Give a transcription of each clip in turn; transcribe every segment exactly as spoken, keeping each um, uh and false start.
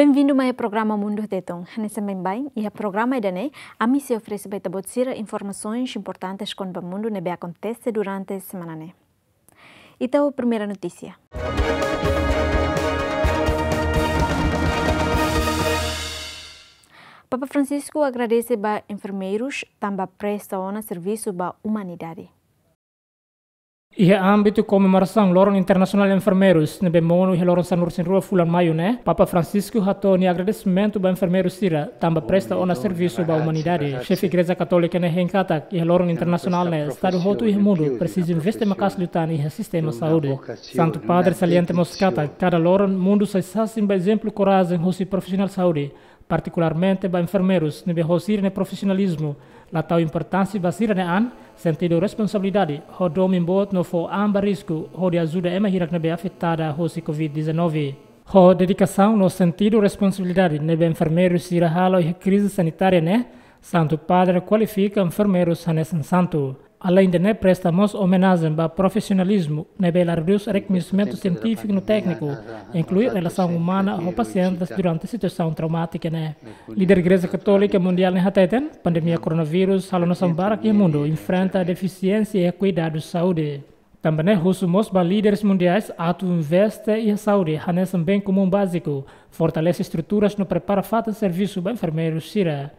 Benvindu mai iha programa Mundu Tetun. Hanesan baibain, iha programa ida-ne'e, ami sei oferese ba ita-boot sira informasoens importantes kona-ba mundu ne'ebé akontese durante semana ne'e. Ita ho primeira notísia. Papa Francisco agradese ba enfermeirus tanba presta ona servisu ba umanidade. Iha ámbitu komemorasaun Loron Internasionál Enfermeirus ne'ebé monu iha loron sanulu-resin-rua fulan Maiu ne'e, Papa Francisco hato'o nia agradesimentu ba enfermeirus sira tanba presta ona servisu ba umanidade. Xefe Igreja Katólika ne'e hein katak iha loron internasionál ne'e, estadu hotu iha mundu presiza investe maka'as liután iha sistema saúde. Santu Padre salienta mós katak kada loron mundu sai sasin ba ezemplu korajen husi profisionál saúde, partikularmente ba enfermeirus ne'ebé ho sira-nia profisionalizmu la tau importánsia ba sira-nia an, sentidu responsabilidade, ho domin boot no fó an ba risku hodi ajuda ema hirak ne'ebé afetada husi covid dezanove. Ho dedikasaun no sentidu responsabilidade ne'ebé enfermeirus sira halo iha krize sanitária ne'e, Santu Padre kualifika enfermeirus hanesan santu. Aleinde ne'e, presta mós omenajen ba profisionalizmu ne'ebé la redús rekoñesimentu sientífiku no tékniku, inklui relasaun umana ho pasientes durante situasaun traumátika ne'e. Líder Igreja Katólika Mundiál ne'e hateten, pandemia koronavírus halo nasaun barak iha mundu enfrenta defisiénsia iha kuidadu saúde. Tanba ne'e husu mós ba líderes mundiais atu investe iha saúde hanesan bem komún báziku, fortalese estruturas no prepara fatin servisu ba enfermeirus sira.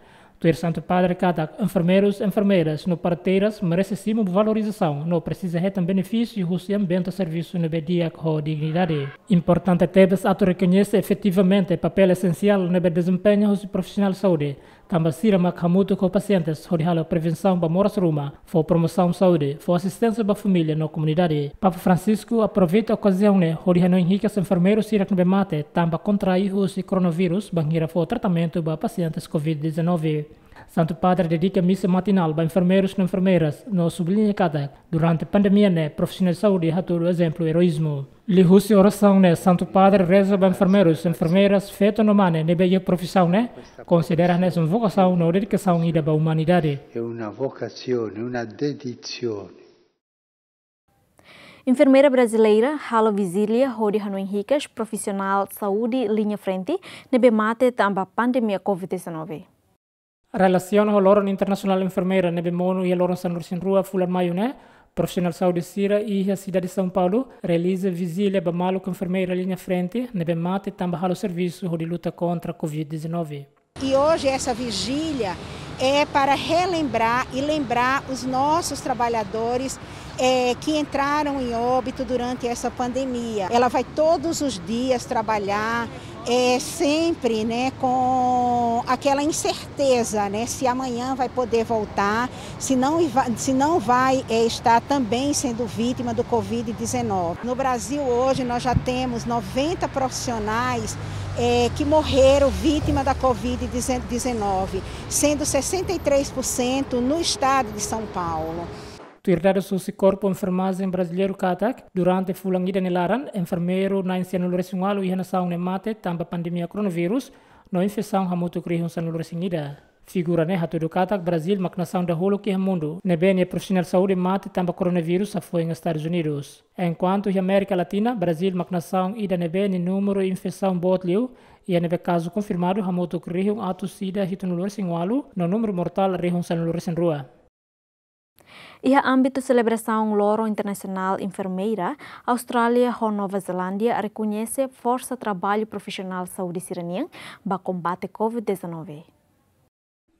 Tuir Santu Padre katak enfermeirus, enfermeiras no parteiras merese simu valorizasaun no presiza hetan benefísiu husi ambiente servisu ne'ebé di'ak ho dignidade. Importante tebes atu rekoñese efetivamente papél esensiál ne'ebé dezempeña husi profisionál saúde, tanba sira mak hamutuk ho pasientes hodi halo prevensaun ba moras ruma, fó promosaun saúde, fó asisténsia ba família no komunidade. Papa Francisco aproveita okaziaun ne'e hodi hanoin hikas enfermeirus sira ne'ebé mate tanba kontraí husi koronavírus bainhira fó tratamentu ba pasientes covid dezanove. Santu Padre dedika misa matinál ba enfermeirus no enfermeiras no subliña katak durante pandemia ne'e profisionál saúde hatudu ezemplu eroízmu. Liuhusi orasaun ne'e, Santu Padre reza ba enfermeirus, enfermeiras, feto no mane ne'ebé iha profisaun ne'e, konsidera hanesan vokasaun no dedikasaun ida ba umanidade. È una vocazione, una dedizione. Enfermeira brasileira halo vijília hodi hanoin hikas profisionál saúde liña frente ne'ebé mate tanba pandemia covid dezanove. Relasiona ho Loron Internasionál Enfermeira ne'ebé monu iha loron sanulu-resin-rua fulan Maiu ne'e, profisionál saúde sira iha sidade São Paulo realiza vijília ba maluk enfermeira liña frente ne'ebé mate tanba halo servisu hodi luta kontra covid dezanove. E hoje essa vigília é para relembrar e lembrar os nossos trabalhadores, eh, que entraram em óbito durante essa pandemia. Ela vai todos os dias trabalhar, é, sempre, né, com aquela incerteza, né, se amanhã vai poder voltar, se não, se não vai, é, estar também sendo vítima do covid dezanove. No Brasil hoje nós já temos noventa profissionais, é, que morreram vítima da covid dezanove, sendo sessenta e três por cento no estado de São Paulo. Tuir dadus husi Korpu Enfermajen Brasileiru katak, durante fulan ida nia laran, enfermeiru na'in-sanulu-resin-ualu iha nasaun ne'e mate tanba pandemia koronavírus, no infesaun hamutuk rihun sanulu-resin-ida. Figura ne'e hatudu katak Brazíl mak nasaun dahuluk iha mundu ne'ebé nia profisionál saúde mate tanba koronavírus hafoin Estadus Unidus. Enkuantu iha Amérika Latina, Brazíl mak nasaun ida ne'ebé nia númeru infesaun boot liu, iha ne'ebé kazu konfirmadu hamutuk rihun atus ida hitunulu-resin-ualu, no númeru mortál rihun sanulu-resin-rua. Iha ámbitu selebrasaun Loron Internasionál Enfermeira, Austrália ho Nova Zelándia rekoñese forsa traballu profisionál saúde sira-nian ba kombate covid dezanove.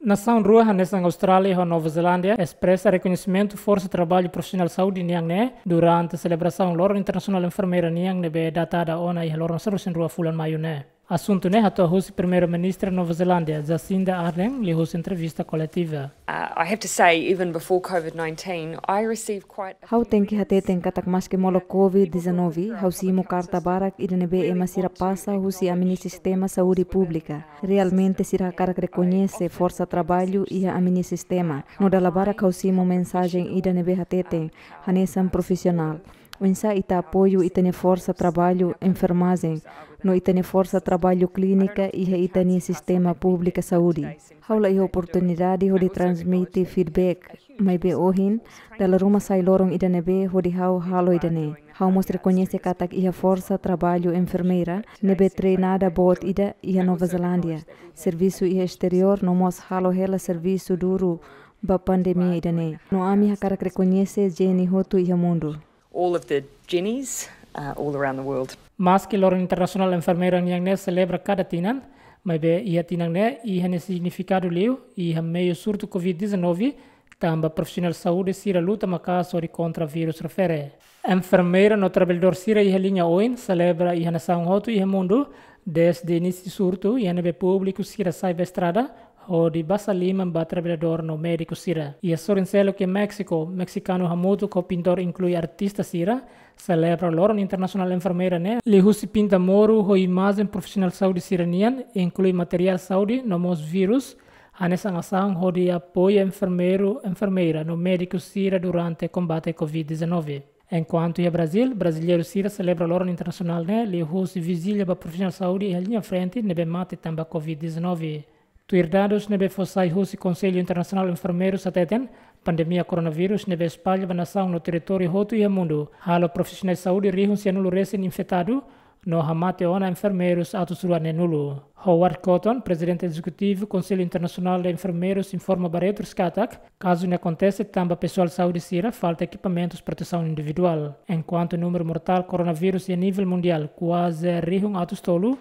Nasaun rua hanesan Austrália ho Nova Zelándia espresa rekoñesimentu forsa traballu profisionál saúde nian ne'e durante selebrasaun Loron Internasionál Enfermeira nian ne'ebé datada ona iha loron sanulu-resin-rua fulan Maiu ne'e. Asuntu ne'e hato'o husi Primeiru-Ministru Nova Zelándia, Jacinda Ardern, liuhusi entrevista koletiva. Uh, I have to say, even before covid nineteen, I received quite a Ha'u tenke hateten katak maski molok covid dezanove, ha'u simu karta barak ida ne'ebé ema sira pasa husi ami-nia sistema saúde públika. Realmente sira hakarak rekoñese forsa traballu iha ami-nia sistema. No dala barak ha'u simu mensajen ida ne'ebé hateten, hanesan profisionál. oinsá ita apoiu ita-nia forsa traballu enfermajen no ita-nia forsa traballu klínika iha ita-nia sistema públiku saúde. Ha'u la iha oportunidade hodi transmite feedback, maibé ohin, dala ruma sai loron ida ne'ebé hodi ha'u halo ida-ne'e. Ha'u mós rekoñese katak iha forsa traballu enfermeira ne'ebé treinada boot ida iha Nova Zelándia, servisu iha esteriór no mós halo hela servisu duru ba pandemia ida-ne'e. No ami hakarak rekoñese Jenny hotu iha mundu. All of the Jennies, uh, all around the world. Maski Loron Internasionál Enfermeira nian ne'e selebra kada tinan, maibé iha tinan ne'e iha nia signifikadu liu, iha meiu surtu covid dezanove, tanba profisionál saúde sira luta maka'as hodi kontra vírus refere. Enfermeira no traballadór sira iha liña oin selebra iha nasaun hotu iha mundu, dezde inísiu surtu, iha ne'ebé públiku sira sai ba estrada hodi basa liman ba traballadór no médiku sira. Iha sorin seluk iha Méxiku, mexikanu hamutuk ho pintór inklui artista sira selebra Loron Internasionál Enfermeira ne'e liuhusi pinta moru ho imajen profisionál saúde sira-nian, inklui materiál saúde no mós vírus, hanesan asaun hodi apoia enfermeiru, enfermeira no médiku sira durante kombate covid dezanove. Enkuantu iha Brazíl, brasileiru sira selebra Loron Internasionál ne'e liuhusi vijília ba profisionál saúde iha liña frente ne'ebé mate tanba covid dezanove. Tuir dadus ne'ebé fó sai husi Konsellu Internasionál Enfermeirus hateten, pandemia koronavírus ne'ebé espalla ba nasaun no territóriu hotu iha mundu halo profisionál saúde rihun sianulu resin infetadu, no hamate ona enfermeirus atus rua neenulu. Howard Cotton, Prezidente Ezekutivu Konsellu Internasionál de Enfermeirus, informa ba Reuters katak, kazu ne'e akontese tanba pesoál saúde sira falta ekipamentus protesaun individuál. Enkuantu númeru mortál koronavírus iha nivel mundiál kuaze rihun atus tolu,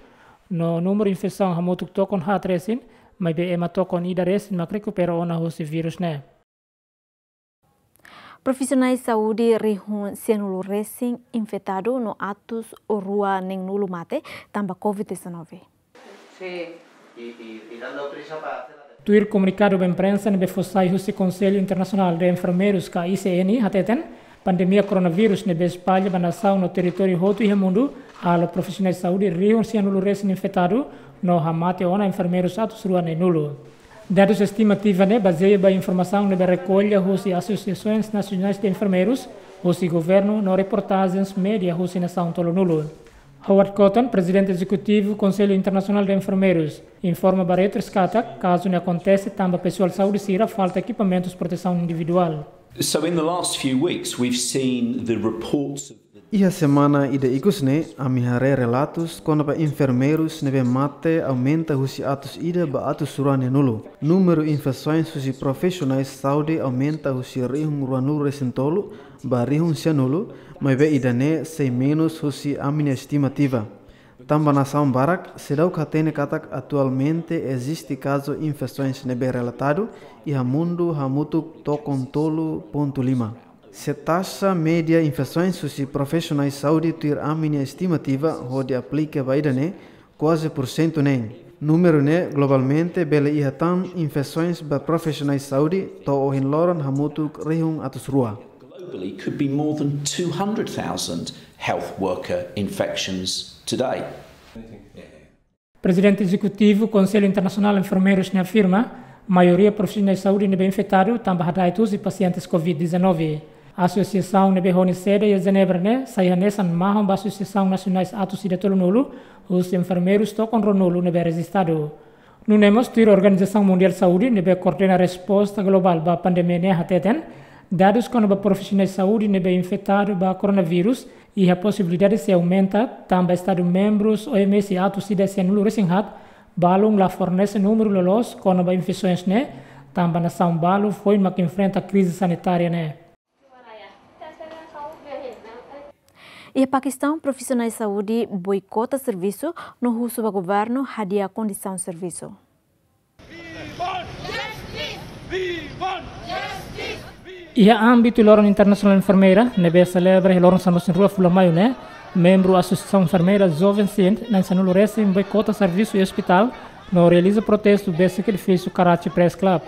no númeru infesaun hamutuk tokon haat resin, maibé ema tokon ida resin mak rekupera ona husi vírus ne'e. Profisionál saúde rihun sianulu resin infetadu no atus rua neenulu mate tanba covid dezanove. Sí, y, y, y dando prisa para hacer la... Tuir komunikadu ba imprensa ne'ebé fó sai husi Konsellu Internasionál de Enfermeirus ka I C N hateten, pandemia koronavírus ne'ebé espalla ba nasaun no territóriu hotu iha mundu halo profisionál saúde rihun sianulu resin infetadu no hamate ona enfermeirus atus rua neenulu. Dadus estimativa ne'e bazeia ba informasaun ne'ebé rekolla husi Asosiasoens Nasionais de Enfermeirus, husi governu no reportajens média husi nasaun tolunulu. Howard Cotton, Prezidente Ezekutivu Konsellu Internasionál de Enfermeirus, informa ba Reuters katak, kazu ne'e akontese tanba pesoál saúde sira falta ekipamentus protesaun individuál. So in the last few weeks, we've seen the reports of the... Iha semana ida ikus ne'e, ami haree relatus kona-ba enfermeirus ne'ebé mate aumenta husi atus ida ba atus rua neenulu. Númeru infesoens husi profisionál saúde aumenta husi rihun ruanulu resin tolu ba rihun sianulu, maibé ida-ne'e sei menus husi ami-nia estimativa. Tanba nasaun barak seidauk hatene katak atualmente eziste kazu infesoens ne'ebé relatadu iha mundu hamutuk tokon tolu pontu lima. Se taxa média infesoens husi profisionál saúde tuir ami-nia estimativa hodi aplika ba ida-ne'e, kuaze porsentu neen. Númeru ne'e globalmente bele iha tan infesoens ba profisionál saúde to'o ohin loron hamutuk rihun atus rua. Globally could be more than two hundred thousand health worker infections today. Prezidente Ezekutivu Konsellu Internasionál Enfermeirus ne'e afirma, maioria profisionál saúde ne'ebé infetadu tanba hada'et husi pasientes covid dezanove. Asosiasaun ne'ebé hodi sede iha Jenebra ne'e sai hanesan mahon ba asosiasaun nasionais atus ida tolunulu, husi enfermeirus tokon ruanulu ne'ebé rejistadu. Nune'e mós tuir Organizasaun Mundiál Saúde ne'ebé koordena resposta globál ba pandemia ne'e hateten, dadus kona-ba profisionál saúde ne'ebé infetadu ba koronavírus iha posibilidade sei aumenta, tanba Estadu membrus O M S atus ida sianulu resin haat balun la fornese númeru loloos kona-ba infesoens ne'e, tanba nasaun balu foin mak enfrenta krize sanitária ne'e. Iha Pakistan, profisionál saúde boikota servisu no husu ba governu hadi'a kondisaun servisu. Iha ámbitu Loron Internasionál Enfermeira, ne'ebé selebra iha loron sanulu-resin-rua fulan Maiu ne'e, membru Asosiasaun Enfermeira Joven Sindh na'in sanulu resin boikota servisu iha ospitál, no realiza protestu besik edifísiu Karachi Press Club.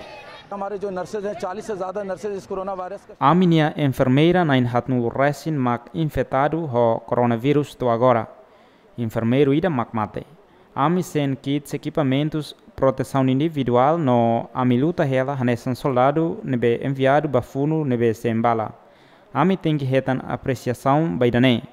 हमारे जो नर्सेज हैं, चालीस से ज़्यादा नर्सेज इस corona virus का... Ami-nia enfermeira na'in haatnulu resin mak infetadu ho koronavírus to'o agora. Enfermeiru ida mak mate. Ami sein kits ekipamentus protesaun individuál no ami luta hela hanesan soldadu ne'ebé enviadu ba funu ne'ebé sein bala. Ami tenke hetan apresiasaun ba ida-ne'e.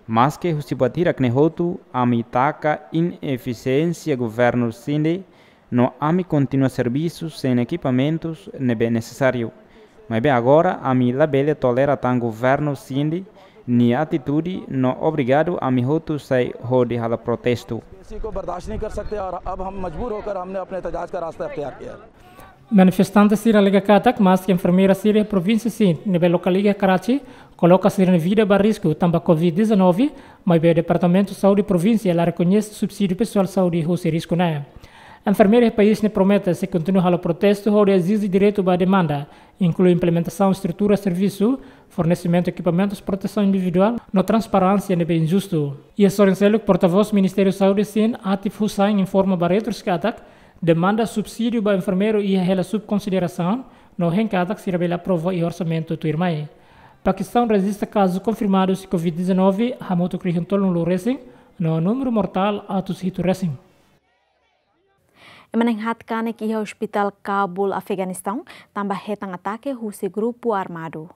Maske husi buat hirak-ne'e hotu, ami taka inefisiénsia governu sini, no ami kontinua servisu sein ekipamentus ne'ebé nesesáriu. Maibé agora ami labele tolera tan governu sini nia atitude no obrigadu ami hotu sai hodi halo protestu. इसी को बर्दाश्त नहीं कर सकते और अब हम मजबूर होकर हमने अपने एहतजाज का रास्ता अख्तियार किया है। Manifestante sira alega katak, maske enfermeira sira iha provínsia Sindh ne'ebé lokál iha Karachi, koloka sira-nia vida ba risku tanba covid dezanove, maibé Departamentu Saúde provínsia la rekoñese subsídiu pesoál saúde husi risku ne'e. Enfermeira iha país ne'e promete sei kontinua halo protestu hodi ezije direitu ba demanda, inklui implementasaun estrutura servisu, fornesimentu ekipamentus protesaun individuál, no transparénsia ne'ebé injustu. Iha sorin seluk, portavós Ministériu Saúde Sindh, Atif Hussain, informa ba Reuters katak, demanda subsídiu ba enfermeiru iha hela sob konsiderasaun, no hein katak sira bele aprova iha orsamentu tuirmai. Pakistaun rejista kazu konfirmadu husi covid dezanove hamutuk rihun tolunulu resin, no númeru mortál atus hitu resin. Ema na'in-haat kanek iha Ospitál Kabul, Afeganistaun, tanba hetan atake husi grupu armadu.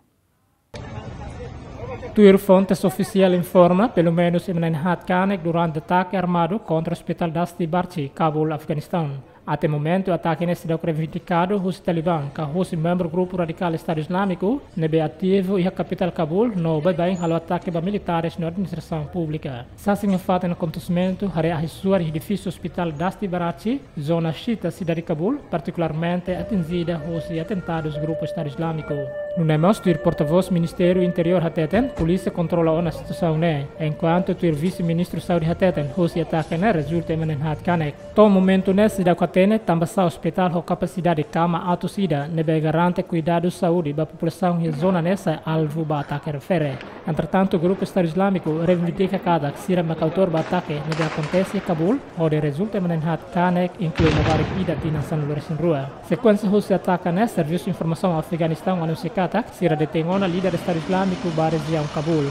Tuir fontes ofisiál informa, pelumenus ema na'in-haat kanek durante atake armadu kontra Ospitál Dashti Barchi, Kabul, Afeganistaun. Até momentu, atake ne'e seidauk reivindikadu husi Taliban, ka husi membru grupu radikál Estadu Izlámiku, ne'ebé ativu iha kapitál Kabul, no baibain halo atake ba militares no administrasaun públika. Sasin iha fatin akontesimentu haree ahi-suar iha edifísiu Ospitál Dashti Barchi, zona Shita, sidade Kabul, partikularmente atinjida husi atentadus grupu Estadu Izlámiku. Nune'e mós tuir portavós Ministériu Interiór hateten, polísia kontrola ona situasaun ne'e, enkuantu tuir vise-ministru Saúde hateten, husi atake ne'e rezulta ema na'in-haat kanek. To'o momentu ne'e seidauk hatene tanbasá ospitál ho kapasidade kama atus ida ne'ebé garante kuidadu saúde ba populasaun iha zona ne'e sai alvu ba atake refere. Entretantu, grupu Estadu Izlámiku reivindika katak sira mak autór ba atake ne'ebé akontese iha Kabul, hodi rezulta ema na'in-haat kanek, inklui labarik ida tinan sanulu-resin-rua. Sekuénsia husi atake ne'e, servisu informasaun Afeganistaun anunsia katak sira detein ona líder Estadu Izlámiku ba rejiaun Kabul.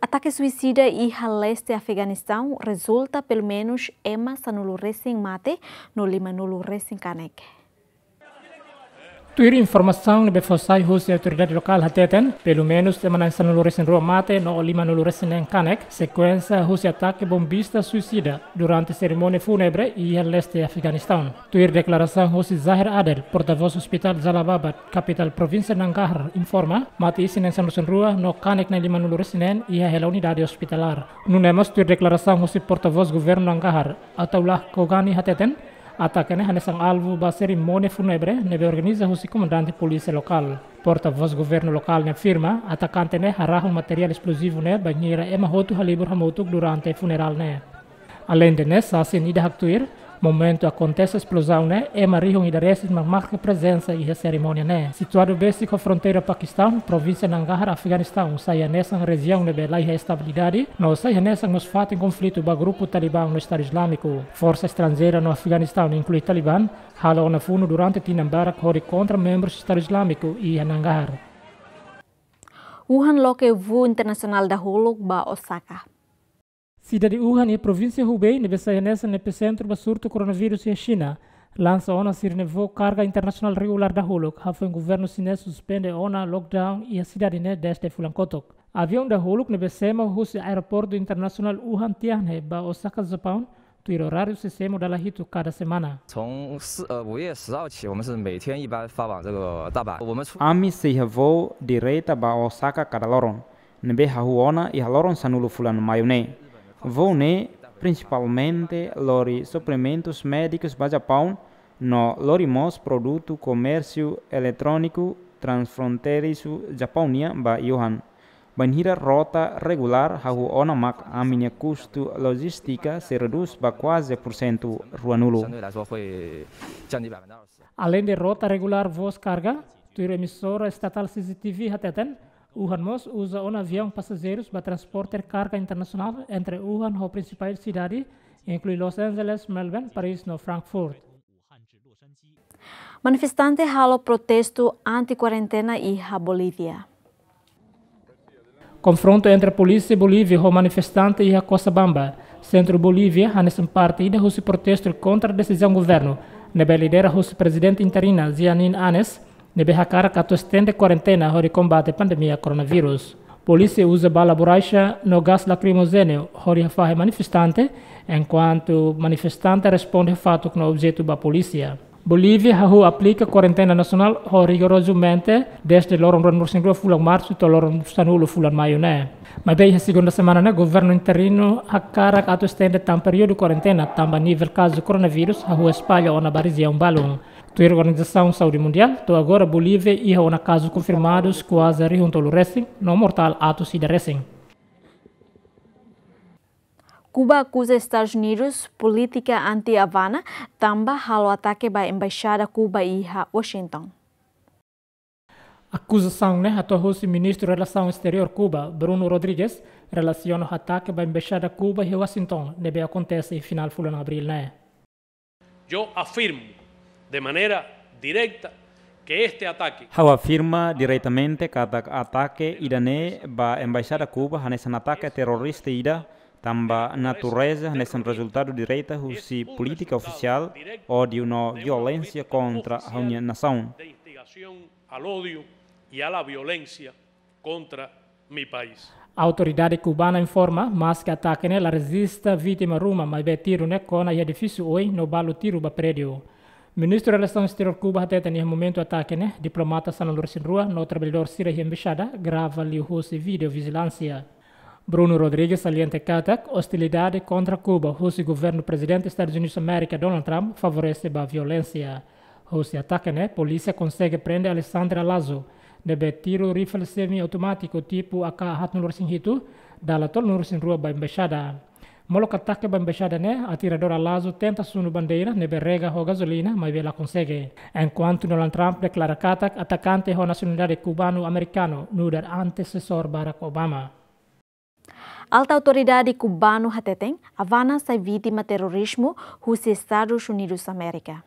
Atake suisida iha leste Afeganistaun rezulta pelumenus ema sanulu-resin mate no limanulu-resin kanek. Tuir informasaun ne'ebé fó sai husi autoridade lokál hateten, pelumenus ema na'in sanulu-resin-rua mate no limanulu-resin-neen kanek, sekuénsia husi atake bombista suisida durante serimónia fúnebre iha leste Afeganistaun. Tuir deklarasaun husi Zahir Adel, portavós Ospitál Jalalabad, kapitál provínsia Nangarhar, informa, mate isin na'in sanulu-resin-rua no kanek na'in limanulu-resin-neen iha hela unidade ospitalár. Nune'e mós tuir deklarasaun husi portavós governu Nangarhar, Ataullah Khogani hateten, atake ne'e hanesan alvu ba serimónia fúnebre ne'ebé organiza husi komandante polísia lokál. Portavós governu lokál ne'e afirma, atakante ne'e harahun materiál esplozivu ne'e bainhira ema hotu halibur hamutuk durante funerál ne'e. Aleinde ne'e, sasin ida haktuir, momentu akontese esplozaun ne'e, ema rihun ida resin mak marka prezensa iha serimónia ne'e. Situadu besik ho fronteira Pakistaun, provínsia Nangarhar, Afeganistaun, sai hanesan rejiaun ne'ebé laiha estabilidade, no sai hanesan mós fatin konflitu ba grupu Taliban no Estadu Izlámiku. Forsa estranjeira no Afeganistaun, inklui Taliban, halo ona funu durante tinan barak hodi kontra membrus Estadu Izlámiku iha Nangarhar. Wuhan loke voo internasionál dahuluk ba Osaka. Sidade Wuhan iha provínsia Hubei ne'ebé sai hanesan episentru ba surtu koronavírus iha Xina, lansa ona sira-nia voo karga internasionál regulár dahuluk, hafoin governu xinés suspende ona lockdown iha sidade ne'e dezde fulan kotuk. Aviaun dahuluk ne'ebé semo husi Aeroportu Internasionál Wuhan Tianhe ba Osaka, Japaun, tuir oráriu sei semo dala hitu kada semana. 从四呃五月十号起，我们是每天一班发往这个大阪。我们出 Ami sei iha voo direta ba Osaka kada loron, ne'ebé hahú ona iha loron sanulu fulan Maiu ne'e. Voo ne'e prinsipalmente lori suprimentus médikus ba Japaun, no lori mós produtu komérsiu eletróniku transfronteirizu Japaun nian ba Wuhan. Bainhira rota regulár hahú ona mak ami-nia kustu lojístika sei redús ba kuaze pursentu ruanulu. 相对来说会降低百分之二十。 Aleinde rota regulár voos karga, tuir emisora estatál C C T V hateten, Wuhan mós uza ona aviaun pasajeirus ba transporte karga internasionál entre Wuhan ho prinsipál sidade, inklui Los Angeles, Melbourne, Paris no Frankfurt. Manifestante halo protestu anti-kuarentena iha Bolívia. Konfrontu entre polísia Bolívia ho manifestante iha Cochabamba, sentru Bolívia, hanesan parte ida husi protestu kontra desizaun governu ne'ebé lidera husi prezidente interina Jeanine Áñez, ne'ebé hakarak atu estende kuarentena hodi kombate pandemia koronavírus. Polísia uza bala borraxa no gás lakrimojéneu hodi hafahe manifestante, enkuantu manifestante responde fatuk no objetu ba polísia. Bolívia hahú aplika kuarentena nasionál ho rigorozamente dezde loron ruanulu-resin-rua fulan Marsu to'o loron sanulu fulan Maiu ne'e. Maibé iha segunda semana ne'e, governu interinu hakarak atu estende tan períodu kuarentena, tanba nivel kazu koronavírus hahú espalla ona ba rejiaun balun. Tuir Organizasaun Saúde Mundiál, to'o agora Bolívia iha ona kazu konfirmadus kuaze rihun tolu resin, no mortál atus ida resin. Kuba akuza Estadus Unidus polítika anti-Havana, tanba halo atake ba embaixada Kuba iha Washington. Akuzasaun ne'e hato'o husi Ministru Relasaun Esteriór Kuba, Bruno Rodrigues, relasiona ho atake ba embaixada Kuba iha Washington, ne'ebé akontese iha finál fulan Abríl ne'e. Yo afirmo de manera directa que este ataque Ha'u afirma diretamente katak atake ida-ne'e ba embaixada Kuba hanesan atake terrorista ida, tanba natureza hanesan rezultadu direta husi polítika ofisiál ódiu no violénsia kontra ha'u-nia nasaun. De instigación al odio y a la violencia contra mi país. Autoridade kubana informa, maske atake ne'e la rejista vítima ruma, maibé tiru ne'e kona iha edifísiu oin no balu tiru ba prédiu. Ministru Relasaun Esteriór Kuba hateten iha momentu atake ne'e, diplomata sanulu-resin-rua no traballadór sira iha embaixada grava liuhusi vídeo vijilánsia. Bruno Rodrigues salienta katak, ostilidade kontra Kuba husi governu Prezidente Estadus Unidus Amérika, Donald Trump, favorese ba violénsia. Husi atake ne'e, polísia konsege prende Alexandre Alazo, ne'ebé tiru rifle semi-automátiku tipu A K haatnulu-resin-hitu, dala tolunulu-resin-rua ba embaixada. Molok atake ba embaixada ne'e, atiradór Alazo tenta sunu bandeira ne'ebé rega ho gazolina, maibé la konsege. Enkuantu Donald Trump deklara katak atakante ho nasionalidade kubanu-amerikanu, nu'udar antesesór Barack Obama. Alta autoridade kubanu hateten, Havana sai vítima terrorizmu husi Estadus Unidus Amérika.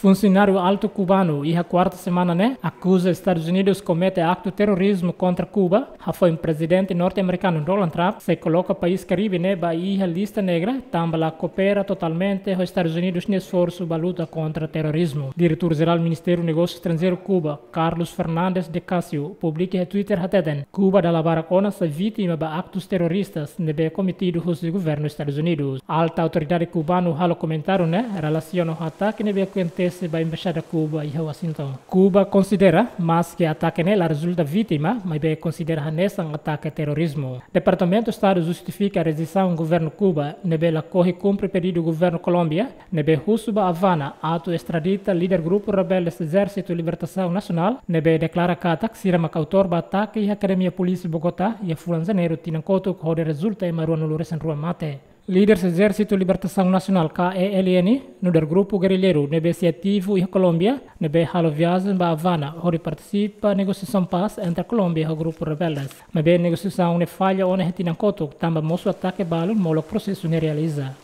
Funsionáriu altu kubanu iha kuarta semana ne'e akuza Estadus Unidus komete aktu terrorizmu kontra Kuba, hafoin Prezidente norte-amerikanu Donald Trump sei koloka país Karibe ne'e ba iha lista negra, tanba la koopera totalmente ho Estadus Unidus nia esforsu ba luta kontra terrorizmu. Diretór Jerál Ministériu Negósiu Estranjeiru Kuba, Carlos Fernandes de Casio, publika iha Twitter hateten, Kuba dala barak ona sai vítima ba aktus terroristas ne'ebé kometidu husi governu Estadus Unidus. Alta autoridade kubanu halo komentáriu ne'e relasiona ho atake ne'ebé akontese ba embaixada Kuba iha Washington. Kuba konsidera, maske atake ne'e la rezulta vítima, maibé konsidera hanesan atake terrorizmu. Departamentu Estadu justifika rejeisaun governu Kuba ne'ebé lakohi kumpre pedidu governu Kolómbia, ne'ebé husu ba Havana atu estradita líder grupu rebelde Ezérsitu Libertasaun Nasionál, ne'ebé deklara katak sira mak autór ba atake iha Akademia Polísia Bogotá iha fulan Janeiru tinan kotuk hodi rezulta ema ruanulu-resin-rua mate. Líder Ezérsitu Libertasaun Nasionál, K E L N, nu'udar grupu gerilleiru ne'ebé sei ativu iha Kolómbia, ne'ebé halo viajen ba Havana hodi partisipa negosiasaun pás entre Kolómbia ho grupu rebeldes. Maibé negosiasaun ne'e falla ona iha tinan kotuk, tanba mosu atake balun molok prosesu ne'e realiza.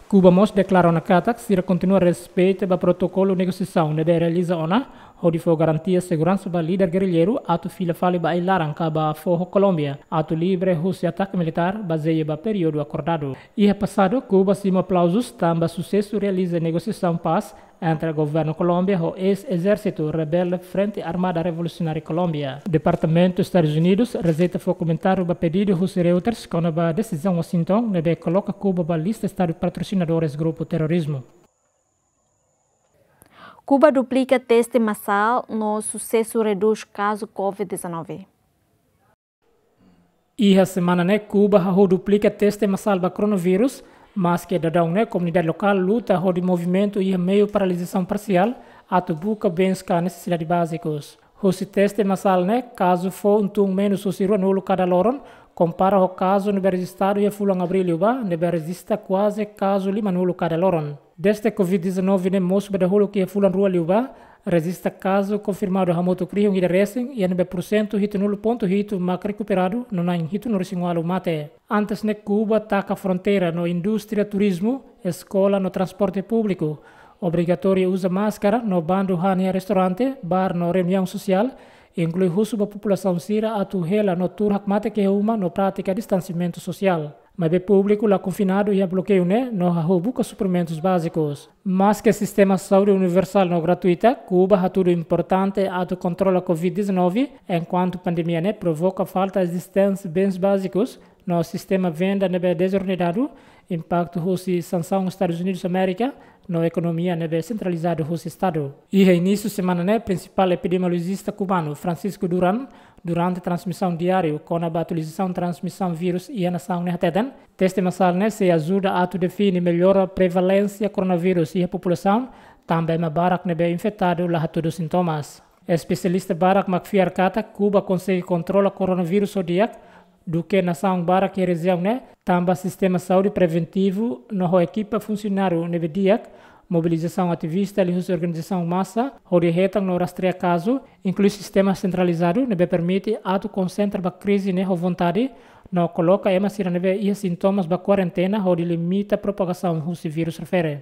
Kuba mós deklara ona katak sira kontinua respeita ba protokolu negosiasaun ne'ebé realiza ona, hodi fó garantia seguransa ba líder gerilleiru atu fila fali ba ai-laran ka ba fó ho Kolómbia, atu livre husi atake militár, bazeia ba períodu akordadu. Iha pasadu, Kuba simu aplauzus tanba susesu realiza negosiasaun pás entre governu Kolómbia ho eis-ezérsitu rebelde Frente Armada Revolusionária Kolómbia. Departamentu Estadus Unidus rejeita fó komentáriu ba pedidu husi Reuters kona-ba desizaun Washington ne'ebé koloka Kuba ba lista estadu patrosinadores grupu terrorizmu. Kuba duplika teste masál no susesu redús kazu Covid dezanove. Iha semana ne'e Kuba hahú duplika teste masál ba koronavírus, maske daudaun ne'e komunidade lokál luta hodi movimentu iha meiu paralizasaun parsiál atu buka bens ka nesesidade bázikus. Husi teste masál ne'e, kazu foun tun menus husi ruanulu kada loron, kompara ho kazu ne'ebé rejistadu iha fulan Abríl liubá, ne'ebé rejista kuaze kazu limanulu kada loron. Dezde Covid dezanove ne'e mosu ba dahuluk iha fulan rua liubá, rejista kazu konfirmadu hamutuk rihun ida resin, iha ne'ebé pursentu hitunulu pontu hitu mak rekuperadu, no na'in hitunulu-resin-ualu mate. Antes ne'e Kuba taka fronteira no indústria turizmu, eskola no transporte públiku. Obrigatóriu uza máskara no bandu han iha restaurante, bar no reuniaun sosiál, inklui husu ba populasaun sira atu hela no tuur hakmatek iha uma no pratika distansiamentu sosiál. Maibé públiku la konfinadu iha blokeiu ne'e no hahú buka suprimentus bázikus. Maske sistema saúde universál no gratuita, Kuba hatudu importante atu kontrola covid dezanove, enkuantu pandemia ne'e provoka falta ezisténsia bens bázikus, no sistema venda ne'ebé dezordenadu, impaktu husi sansaun Estadus Unidus Amérika, no ekonomia ne'ebé sentralizadu husi Estadu. Iha inísiu semana ne'e, prinsipál epidemiolojista kubanu, Francisco Duran, durante transmisaun diáriu kona-ba atualizasaun transmisaun vírus iha nasaun ne'e hateten, teste masál ne'e sei ajuda atu define melhor prevalénsia koronavírus iha populasaun, tanba ema barak ne'ebé infetadu la hatudu sintomas. Espesialista barak mak fiar katak Kuba konsege kontrola koronavírus ho di'ak duké nasaun barak iha rejiaun ne'e, tanba sistema saúde preventivu no ho ekipa funsionáriu ne'ebé di'ak, mobilizasaun ativista liuhusi organizasaun masa hodi hetan no rastreia kazu, inklui sistema sentralizadu ne'ebé permite atu konsentra ba krize ne'e ho vontade, no koloka ema sira ne'ebé iha sintomas ba kuarentena hodi limita propagasaun husi vírus refere.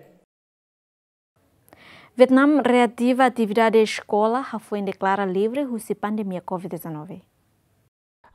Vietnam reativa atividade eskola hafoin deklara livre husi pandemia covid dezanove.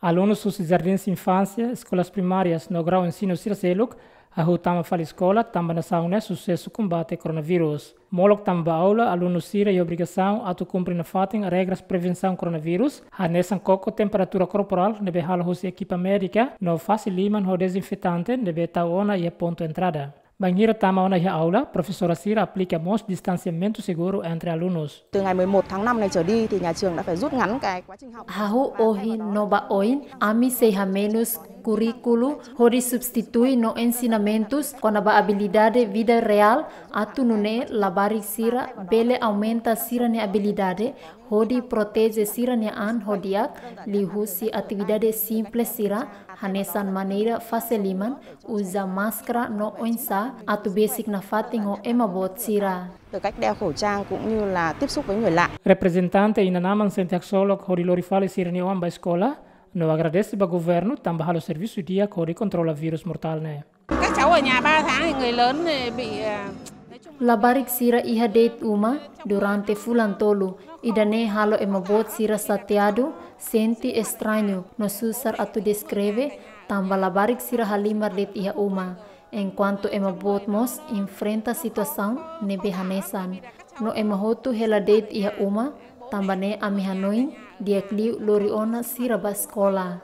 Alunus husi jardins infánsia, eskolas primárias no grau ensinu sira seluk hahú tama fali eskola, tanba nasaun ne'e susesu kombate koronavírus. Molok tama ba aula, alunus sira iha obrigasaun atu kumpre nafatin regras prevensaun koronavírus, hanesan koko temperatura korporál ne'ebé halo husi ekipa médika, no fase liman ho dezinfetante ne'ebé tau ona iha pontu entrada. Bainhira tama ona iha aula, profesora sira aplika mós distansiamentu seguru entre alunus. Từ ngày mười một tháng năm này trở đi thì nhà trường đã phải rút ngắn cái quá trình học. Hahú ohin no ba oin, ami sei hamenus kurríkulu hodi substitui no ensinamentus kona-ba abilidade vida reál, atu nune'e labarik sira bele aumenta sira-nia abilidade hodi proteje sira-nia an ho di'ak, liuhusi atividade simples sira, hanesan maneira fase liman, uza máskara no oinsá atu besik nafatin ho ema boot sira. Từ cách đeo khẩu trang cũng như là tiếp xúc với người lạ. Reprezentante inan-aman sente haksolok hodi lori fali sira-nia oan ba eskola, no agradese ba governu tanba halo servisu di'ak hodi kontrola vírus mortál ne'e. Các cháu ở nhà ba tháng thì người lớn thì bị, à, nói chung là labarik sira iha de'it uma durante fulan tolu, ida-ne'e halo ema boot sira xateadu, sente estrañu, no susar atu deskreve, tanba labarik sira halimar de'it iha uma. Enkuantu ema boot mós enfrenta situasaun ne'ebé hanesan. No ema hotu hela de'it iha uma, tanba ne'e ami hanoin di'ak liu lori ona sira ba eskola.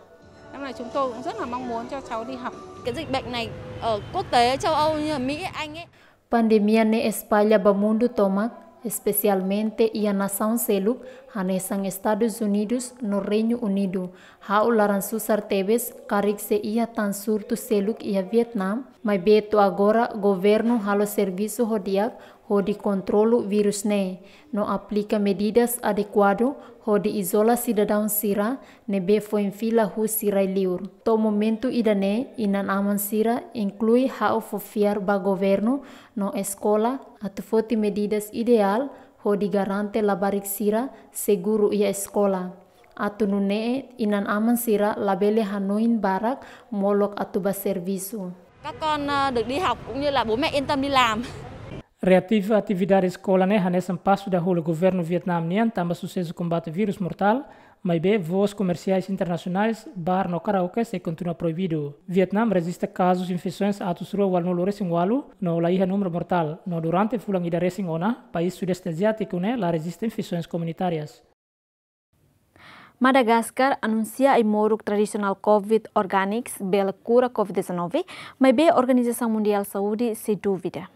Năm nay chúng tôi cũng rất là mong muốn cho cháu đi học. Cái dịch bệnh này ở quốc tế, châu Âu như ở Mỹ, Anh ấy. Pandemia ne'e espalla ba mundu tomak, espesialmente iha nasaun seluk, hanesan Estadus Unidus no Reinu Unidu. Ha'u laran susar tebes, karik sei iha tan surtu seluk iha Vietnam, maibé to'o agora governu halo servisu ho di'ak hodi kontrolu vírus ne'e, no aplika medidas adekuadu hodi izola sidadaun sira ne'ebé foin fila husi rai-liur. To'o momentu ida-ne'e, inan-aman sira, inklui ha'u, fó fiar ba governu no eskola atu foti medidas ideál hodi garante labarik sira seguru iha eskola. Atu nune'e inan-aman sira labele hanoin barak molok atu ba servisu. Các con, ờ, được đi học cũng như là bố mẹ yên tâm đi làm. Reativa atividade eskola ne'e hanesan pasu dahuluk governu Vietnam nian tanba susesu kombate vírus mortál, maibé voos komersiais internasionais, bar no karaoke sei kontinua proibidu. Vietnam rejista kazus infesoens atus rua ualunulu resin ualu, no la iha númeru mortál, no durante fulan ida resin ona, país Sudeste Aziátiku ne'e la rejista infesoens komunitárias. Madagaskar anunsia ai-moruk tradisionál Covid Organics bele kura Covid dezanove, maibé Organizasaun Mundiál Saúde sei dúvida.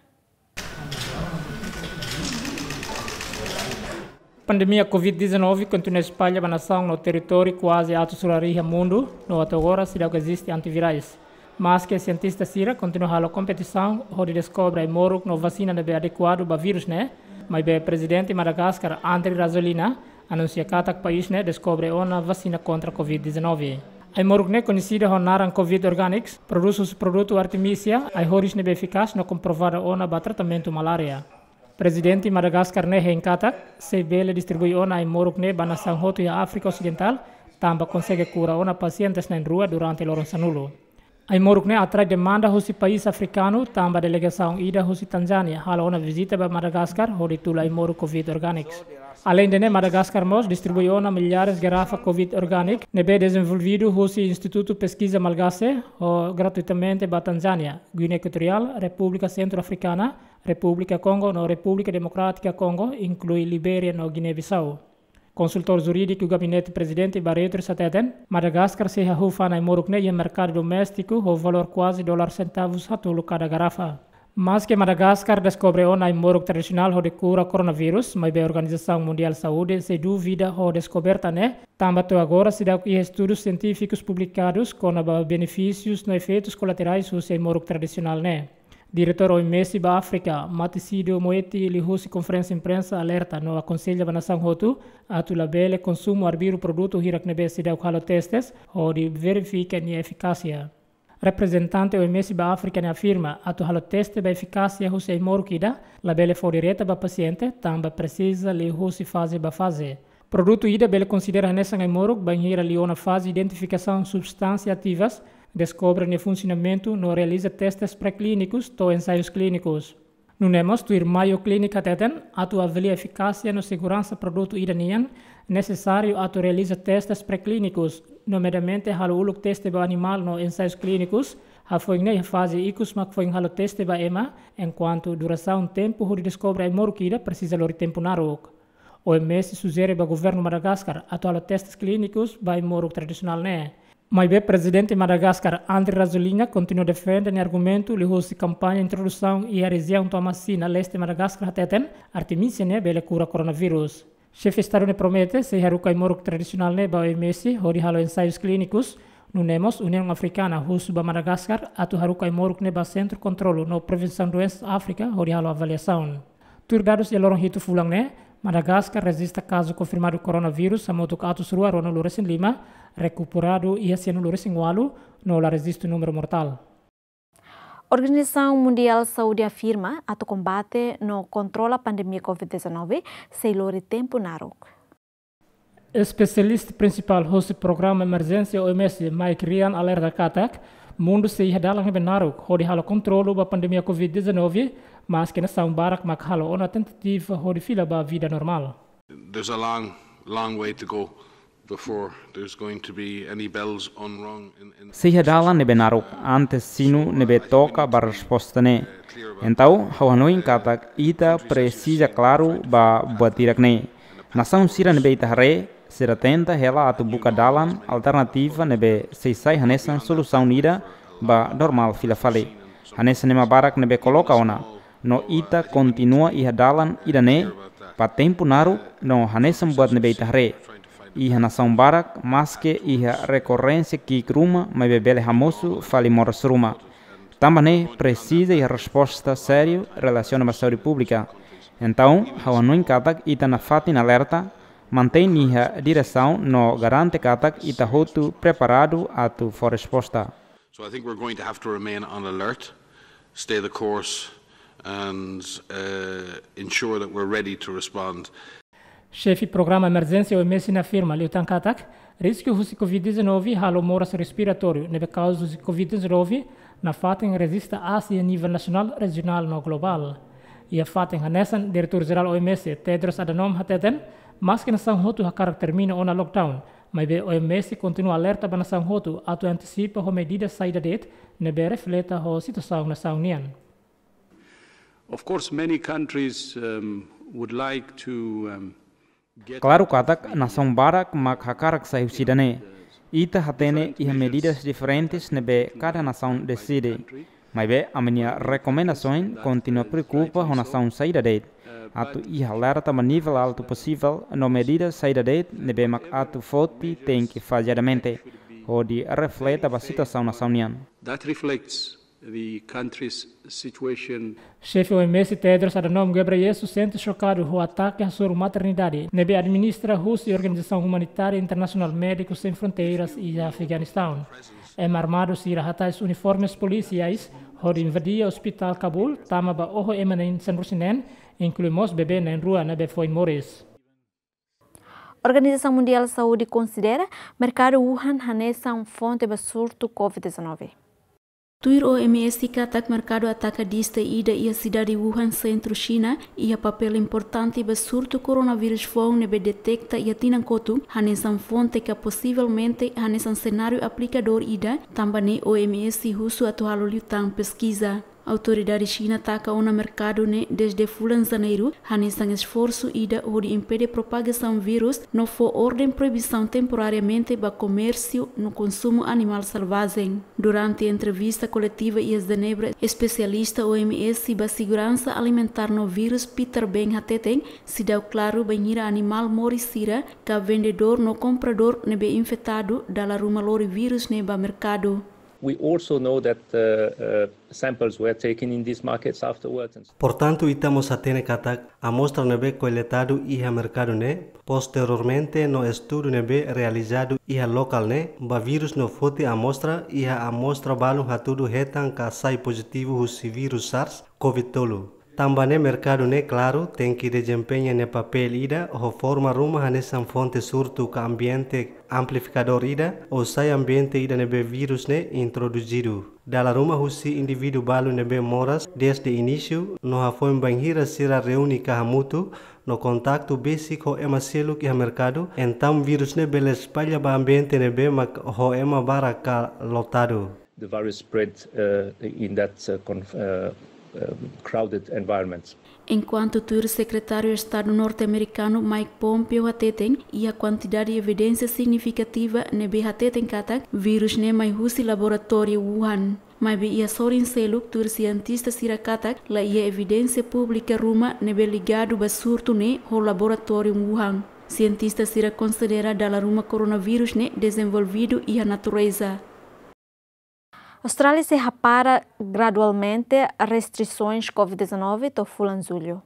Pandemia Covid dezanove kontinua espalla ba nasaun no territóriu kuaze atus rua resin iha mundu, no atu agora seidauk eziste antivirais. Maske sientista sira kontinua halo kompetisaun hodi deskobre ai-moruk no vasina ne'ebé adekuadu ba vírus ne'e, maibé Prezidente Madagaskar, Andry Rajoelina, anunsia katak país ne'e deskobre ona vasina kontra Covid dezanove. Ai-moruk ne'e koñesidu ho naran Covid Organics, prodús husi produtu Artemisia, ai-horis ne'ebé efikás no komprovadu ona ba tratamentu malária. Prezidente Madagaskar ne'e hein katak sei bele distribui ona ai-moruk ne'e ba nasaun hotu iha Áfrika Osidentál, tanba konsege kura ona pasientes na'in-rua durante loron sanulu. Ai-moruk ne'e atrai demanda husi país afrikanu, tanba delegasaun ida husi Tanzánia halo ona vizita ba Madagaskar hodi tula ai-moruk COVID organics. Aleinde ne'e, Madagaskar mós distribui ona millares garrafa COVID organic ne'ebé dezenvolvidu husi Institutu Peskiza Malgase ho gratuitamente ba Tanzánia, Guiné Ekuatoriál, Repúblika Sentru Afrikana, Repúblika Kongo no Repúblika Demokrátika Kongo, inklui Libéria no Giné-Bisau. Konsultór jurídiku Gabinete Prezidente Barreto hateten, Madagaskar sei hahú fa'an ai-moruk ne'e iha merkadu doméstiku ho valór kuaze dolar sentavus haat-tolu kada garrafa. Maske Madagaskar deskobre ona ai-moruk tradisionál hodi kura koronavírus, maibé Organizasaun Mundiál Saúde sei duvida ho deskoberta ne'e, tanba to'o agora seidauk iha estudu sientífiku publikadu kona-ba benefísius no efeitus kolaterais husi ai-moruk tradisionál ne'e. Diretór O M S ba Áfrika, Matshidiso Moeti, liuhusi konferénsia imprensa alerta no akonsella ba nasaun hotu atu labele konsumu arbiru produtu hirak ne'ebé seidauk halo testes hodi verifika nia efikásia. Reprezentante O M S ba Áfrika ne'e afirma atu halo teste ba efikásia husi ai-moruk ida labele fó direta ba pasiente, tanba presiza liuhusi faze ba faze. Produtu ida bele konsidera hanesan ai-moruk bainhira liu ona faze identifikasaun substánsia ativas, deskobre nia funsionamentu no realiza testes pré-klínikus to'o ensaius klínikus. Nune'e mós tuir Mayo Clinic hateten, atu avalia efikásia no seguransa produtu ida nian, nesesáriu atu realiza testes pré-klínikus, nomedamente halo uluk teste ba animál no ensaius klínikus, hafoin ne'e iha faze ikus mak foin halo teste ba ema, enkuantu durasaun tempu hodi deskobre ai-moruk ida presiza lori tempu naruk. O M S sujere ba governu Madagaskar atu halo testes klínikus ba ai-moruk tradisionál ne'e. Maibé Prezidente Madagaskar, Andry Rajoelina, kontinua defende nia argumentu liuhusi kampaña introdusaun iha rejiaun Toamasina, leste Madagaskar, hateten, Artemisia ne'e bele kura koronavírus. Xefe Estadu ne'e promete sei haruka ai-moruk tradisionál ne'e ba O M S hodi halo ensaius klínikus, nune'e mós Uniaun Afrikana husu ba Madagaskar atu haruka ai-moruk ne'e ba Sentru Kontrolu no Prevensaun Doensas Áfrika hodi halo avaliasaun. Tuir dadus iha loron hitu fulan ne'e, Madagaskar rejista kazu konfirmadu koronavírus hamutuk atus rua ruanulu resin lima, rekuperadu iha sianulu resin ualu, no la rejistu númeru mortál. Organizasaun Mundiál Saúde afirma atu kombate no kontrola pandemia COVID dezanove sei lori tempu naruk. Espesialista prinsipál husi Programa Emerjénsia O M S, Mike Ryan, alerta katak mundu sei iha dalan ne'ebé naruk hodi halo kontrolu ba pandemia COVID dezanove, maske nasaun barak mak halo ona tentativa hodi fila ba vida normál. There's a long, long way to go before there's going to be any bells unrung in, in Sei iha dalan ne'ebé naruk antes sinu ne'ebé toka ba resposta ne'e. Entaun, ha'u hanoin katak ita presiza klaru ba buat hirak ne'e. Nasaun sira ne'ebé ita haree, sira tenta hela atu buka dalan alternativa ne'ebé sei sai hanesan solusaun ida ba normál fila fali. Hanesan ema barak ne'ebé koloka ona, no ita kontinua iha dalan ida-ne'e ba tempu naruk no hanesan buat ne'ebé ita haree. Iha nasaun barak, maske iha rekorrénsia ki'ik ruma, maibé bele hamosu fali moras ruma. Tanba ne'e presiza iha resposta sériu relasiona ba saúde públika. Entaun, ha'u hanoin katak ita nafatin alerta, mantein nia diresaun no garante katak ita hotu preparadu atu fó resposta. So I think we're going to have to remain on alert, stay the course, and, uh, ensure that we're ready to respond. Xefe Programa Emerjénsia O M S ne'e afirma liután katak risku husi COVID dezanove halo moras respiratóriu ne'ebé kauza husi COVID dezanove nafatin rejista aas iha nivel nasionál, rejionál no globál. Iha fatin hanesan, Diretór Jerál O M S, Tedros Adhanom, hateten, maske nasaun hotu hakarak termina ona lockdown, maibé O M S kontinua alerta ba nasaun hotu atu antisipa ho medida saida de'it ne'ebé refleta ho situasaun nasaun nian. Of course, many countries, um, would like to, um, get Klaru katak nasaun barak mak hakarak sai husi ida-ne'e. Ita hatene iha medidas diferentes ne'ebé kada nasaun deside. Maibé, ami-nia rekomendasaun kontinua preokupa ho nasaun saida de'it atu iha alerta ba nivel altu posivel no medida saida de'it ne'ebé mak atu foti tenke fazeadamente, hodi refleta ba situasaun nasaun nian. That reflects the country's situation. Xefe O M S Tedros Adhanom Ghebreyesus sente xokadu ho atake hasoru maternidade ne'ebé administra husi organizasaun umanitária internasionál Médicos Sem Fronteiras iha Afeganistaun. Ema armadu sira hatais uniformes polisiais hodi invadia ospitál Kabul, tama ba oho ema na'in sanulu-resin-neen, inklui mós bebé na'in-rua ne'ebé foin moris. Organizasaun Mundiál Saúde konsidera merkadu Wuhan hanesan fonte ba surtu COVID dezanove. Tuir O M S katak merkadu ataka dista ida iha sidade Wuhan, sentru Xina, iha papél importante ba surtu koronavírus foun ne'ebé deteta iha tinan kotuk, hanesan fonte ka posivelmente hanesan senáriu aplikadór ida, tanba ne'e O M S husu atu halo liután peskiza. Autoridade Xina taka ona merkadu ne'e desde fulan Janeiru, hanesan esforsu ida hodi impede propagasaun vírus no fó orden proibisaun temporariamente ba komérsiu no konsumu animál selvajen. Durante entrevista koletiva iha Jenebra, espesialista O M S ba seguransa alimentár no vírus Peter Beng hateten, seidauk klaru bainhira animál moris sira ka vendedór no kompradór ne'ebé infetadu dala ruma lori vírus ne'e ba merkadu. We also know that, uh, uh, samples were taken in these markets afterwards and Portantu, ita mós hatene katak amostra ne'ebé koletadu iha merkadu ne'e, posteriormente no estudu ne'ebé realizadu iha lokál ne'e, ba vírus no foti amostra iha amostra balun hatudu hetan ka sai pozitivu husi vírus SARS-CoV tolu. Tanba ne'e merkadu ne'e klaru tenke dezempeña nia papél ida ho forma ruma hanesan fonte surtu ka ambiente amplifikadór ida, ou sai ambiente ida ne'ebé vírus ne'e introduzidu. Dala ruma husi indivíduu balu ne'ebé moras desde inísiu no hafoin bainhira sira reúne ka hamutuk no kontaktu besik ho ema seluk iha merkadu, entaun vírus ne'e bele espalla ba ambiente ne'ebé mak ho ema barak ka lotadu. The virus spread, uh, in that, uh, conf-, uh, uh, crowded environment. Enkuantu tuir Sekretáriu Estadu norte-amerikanu Mike Pompeo hateten, iha kuantidade evidénsia signifikativa ne'ebé hateten katak vírus ne'e mai husi laboratóriu Wuhan. Maibé iha sorin seluk tuir sientista sira katak la iha evidénsia públika ruma ne'ebé ligadu ba surtu ne'e ho laboratóriu Wuhan. Sientista sira konsidera dala ruma koronavírus ne'e dezenvolvidu iha natureza. Austrália sei hapara gradualmente restrisoens covid dezanove to'o fulan Jullu.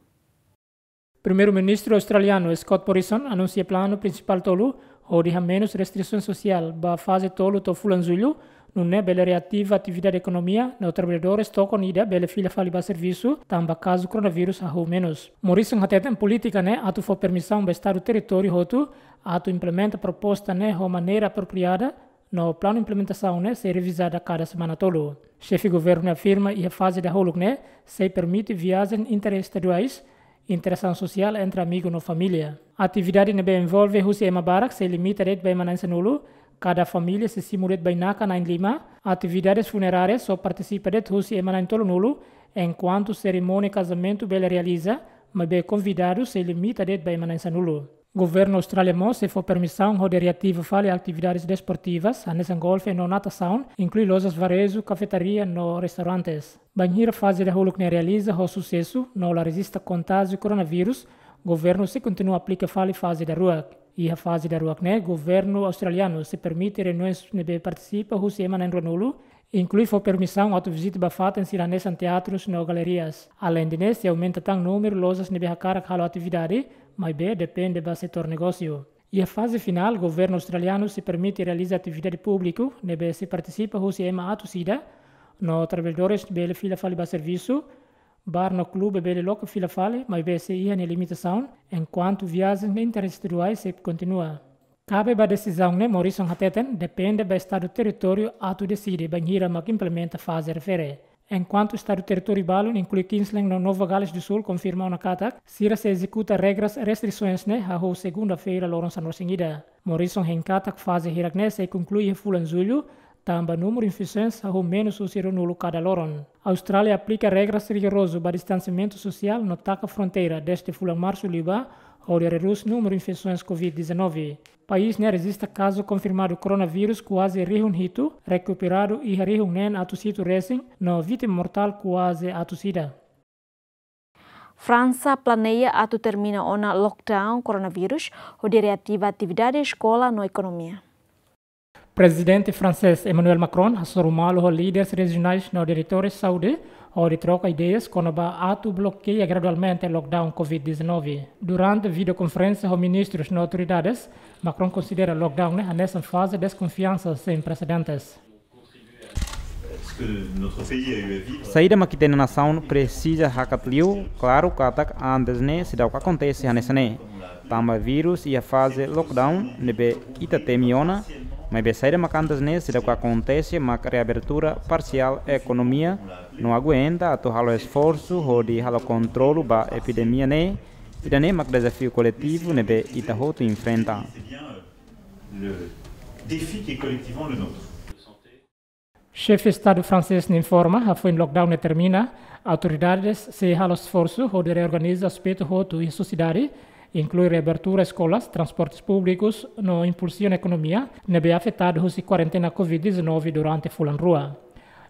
Primeiru-Ministru australianu Scott Morrison anunsia planu prinsipál tolu hodi hamenus restrisoens sosiál ba faze tolu to'o fulan Jullu, nune'e bele reativa atividade ekonomia no traballadores tokon ida bele fila fali ba servisu, tanba kazu koronavírus hahú menus. Morrison hateten polítika ne'e atu fó permisaun ba Estadu territóriu hotu atu implementa proposta ne'e ho maneira apropriada, no planu implementasaun ne'e sei revizada kada semana tolu. Xefe governu ne'e afirma iha faze dahuluk ne'e sei permite viajen interestaduais, interasaun sosiál entre amigu no família. Atividade ne'ebé envolve husi ema barak sei limita de'it ba ema na'in sanulu, kada família sei simu de'it bainaka na'in lima, atividades funerárias só partisipa de'it husi ema na'in tolunulu, enkuantu serimónia kazamentu bele realiza, maibé konvidadu sei limita de'it ba ema na'in sanulu. Governu Austrália mós sei fó permisaun hodi reativa fali atividades desportivas, hanesan golfe no natasaun, inklui lojas vareju, kafetaria no restaurantes. Bainhira faze dahuluk ne'e realiza ho susesu, no la rejista kontájiu koronavírus, governu sei kontinua aplika fali faze daruak. Iha faze daruak ne'e, governu australianu sei permite reuniões ne'ebé partisipa husi ema na'in ruanulu, inklui fó permisaun atu vizita ba fatin sira hanesan teatrus no galerias. Aleinde ne'e, sei aumenta tan númeru lojas ne'ebé hakarak halo atividade, maibé depende ba setór negósiu. Iha faze finál, governu australianu sei permite realiza atividade públiku ne'ebé sei partisipa husi ema atus ida, no traballadores bele fila fali ba servisu, bar no klube bele loke fila fali, maibé sei iha nia limitasaun, enkuantu viajen interestaduais sei kontinua. Kabe ba desizaun ne'e, Morrison hateten depende ba Estadu territóriu atu deside bainhira mak implementa faze refere. Enkuantu Estadu territóriu balun, inklui Queensland no Nova Gales do Sul, konfirma ona katak sira sei ezekuta regras restrisoens ne'e hahú segunda-feira loron sanulu-resin-ida. Morrison hein katak faze hirak ne'e sei konklui iha fulan Jullu, tanba númeru infesoens hahú menus husi ruanulu kada loron. Austrália aplika regras rigorozu ba distansiamentu sosiál no taka fronteira desde fulan Marsu liubá, hodi redús númeru infesoens covid dezanove. País ne'e rejista kazu konfirmadu koronavírus kuaze rihun hitu, rekuperadu iha rihun neen atus hitu resin, no vítima mortál kuaze atus ida. Fransa planeia atu termina ona lockdown koronavírus, hodi reativa atividade eskola no ekonomia. Prezidente fransés Emmanuel Macron hasoru malu ho líderes rejionais no diretores saúde, hodi troka ideias kona-ba atu blokeia gradualmente lockdown covid dezanove. Durante videokonferénsia ho ministrus no autoridades, Macron konsidera lockdown ne'e hanesan faze deskonfiansa sein presedentes. Saida mak ita-nia nasaun presiza hakat liu, klaru katak antes ne'e seidauk akontese hanesan ne'e. Tanba vírus iha faze lockdown ne'ebé ita temi ona, Maibé saida mak antes ne'e seidauk akontese mak reabertura parsiál ekonomia no aguenta atu halo esforsu hodi halo kontrolu ba epidemia ne'e, ida-ne'e mak dezafiu koletivu ne'ebé ita hotu enfrenta. Le défi qui est collectivement le nôtre. Xefe Estadu fransés ne'e informa hafoin lockdown ne'e termina, autoridades sei halo esforsu hodi reorganiza aspetu hotu iha sosiedade, inklui reabertura eskolas, transportes públikus no impulsiona ekonomia ne'ebé afetadu husi kuarentena covid dezanove durante fulan rua.